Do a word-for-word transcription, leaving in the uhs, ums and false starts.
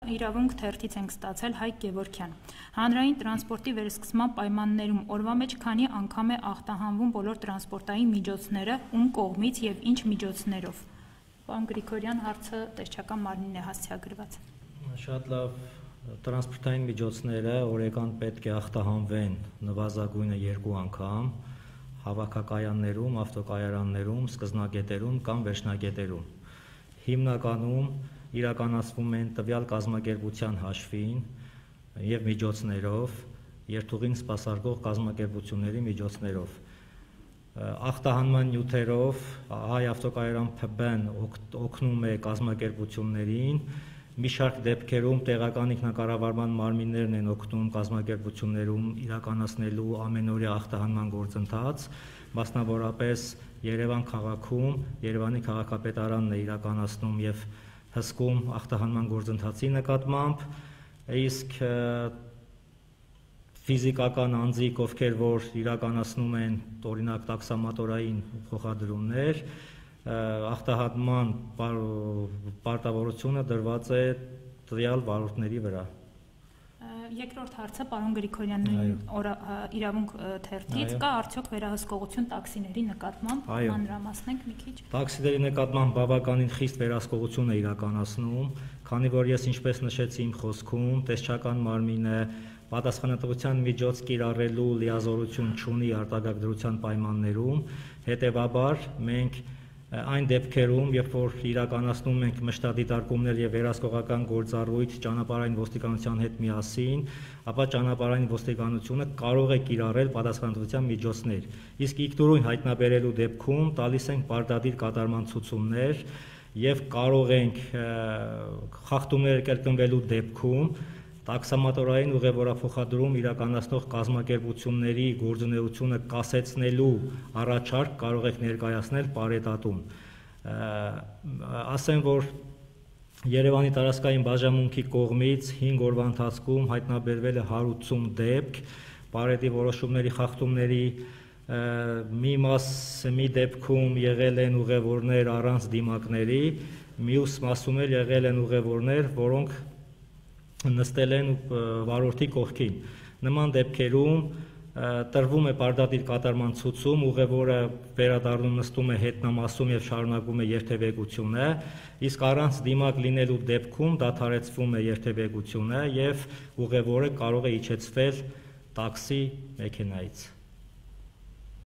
Իրավունք թերթից ենք ստացել Հայկ Գևորգյան։ Հանրային տրանսպորտի վերսկսման պայմաններում օրվա մեջ քանի անգամ է ախտահանվում բոլոր տրանսպորտային միջոցները, ում կողմից եւ ինչ միջոցներով։ Պարոն Գրիգորյան, հարցը տեսչական մարմինն է հասցեագրված։ Շատ լավ, տրանսպորտային միջոցները օրական պետք է ախտահանվեն նվազագույնը երկու անգամ հավաքակայաններում, ավտոկայարաններում, սկզբնագետերում կամ վերջնագետերում։ Հիմնականում իրականացվում են տվյալ կազմակերպության հաշվին եւ միջոցներով, երթուղին սպասարկող կազմակերպությունների միջոցներով։ Ախտահանման նյութերով Հայ ավտոկայարան Փ B-ն օգնում է կազմակերպություններին, մի շարք դեպքերում տեղական ինքնակառավարման մարմիններն են օգնում կազմակերպություններում իրականացնելու ամենօրյա ախտահանման գործընթաց, մասնավորապես Երևան քաղաքում Երևանի քաղաքապետարանն է իրականացնում եւ հսկում ախտահանման գործընթացի նկատմամբ, իսկ ֆիզիկական անձիկ, ովքեր որ իրականացնում են օրինակ տաքսամատորային փոխադրումներ, ախտահանման պարտավորությունը դրված է տվյալ վարորդների վրա։ Երկրորդ հարցը պարոն Գրիգորյանի իրավունք թերթից կա արդյոք վերահսկողություն տաքսիների նկատմամբ, մանրամասնենք մի քիչ։ Տաքսիների նկատմամբ բավականին խիստ վերահսկողություն է իրականացնում, քանի որ ես ինչպես նշեցի իմ խոսքում, տեսչական մարմինը պատասխանատվության միջոց կիրառելու լիազորություն չունի արտակարգ դրության պայմաններում, հետևաբար մենք այն դեպքերում, երբ որ իրականացնում ենք մշտադիտարկումներ եւ վերահսկողական գործառույթ ճանապարհային ոստիկանության հետ միասին, ապա ճանապարհային ոստիկանությունը կարող է կիրառել պատասխանատվության միջոցներ։ Իսկ իգնորույն հայտնաբերելու դեպքում տալիս ենք պարտադիր կատարման ցուցումներ եւ կարող ենք խախտումներ կրկնվելու դեպքում տաքսամատորային ուղևորափոխադրում իրականացնող կազմակերպությունների գործունեությունը կասեցնելու առաջարկ կարող եք ներկայացնել պարետատում։ Ասեմ, որ Երևանի տարածքային բաժանմունքի կողմից հինգ օրվա ընթացքում հայտնաբերվել է հարյուր ութ դեպք պարետի որոշումների խախտումների, մի մաս մի դեպքում եղել են ուղևորներ առանց դիմակների, մյուս մասում էլ եղել են ուղևորներ, որոնք նստել են վարորդի կողքին։ Նման դեպքերում տրվում է պարտադիր կատարման ցուցում, ուղևորը վերադառնում նստում է հետնամասում եւ շարունակում է երթևեկությունը, իսկ առանց դիմակ լինելու դեպքում դադարեցվում է երթևեկությունը եւ ուղևորը կարող է իջեցվել տաքսի մեքենայից։